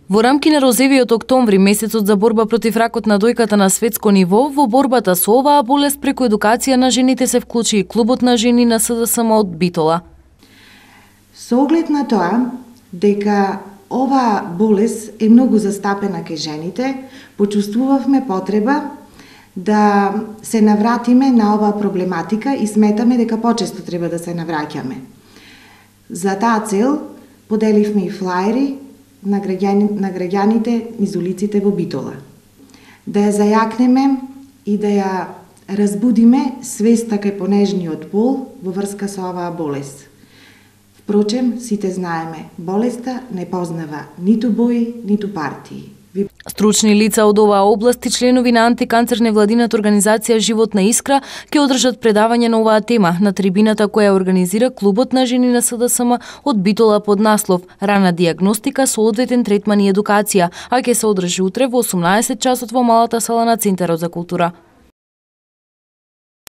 Во рамки на розевиот октомври, месецот за борба против ракот на дојката на светско ниво, во борбата со оваа болест преку едукација на жените се вклучи и клубот на жени на СДСМ од Битола. Со оглед на тоа дека оваа болест е многу застапена кај жените, почувствувавме потреба да се навратиме на оваа проблематика и сметаме дека почесто треба да се навраќаме. За таа цел поделивме и флаери на граѓаните низ улиците во Битола. Да ја зајакнеме и да ја разбудиме свеста кај понежниот пол во врска со оваа болест. Впрочем, сите знаеме, болеста не познава ниту бои, ниту партии. Стручни лица од оваа област и членови на антиканцер невладината организација Животна искра ќе одржат предавање на оваа тема на трибината која организира клубот на жени на СДСМ од Битола под наслов Рана дијагностика со одветен третман и едукација, а ќе се одржи утре во 18 часот во малата сала на Центарот за култура.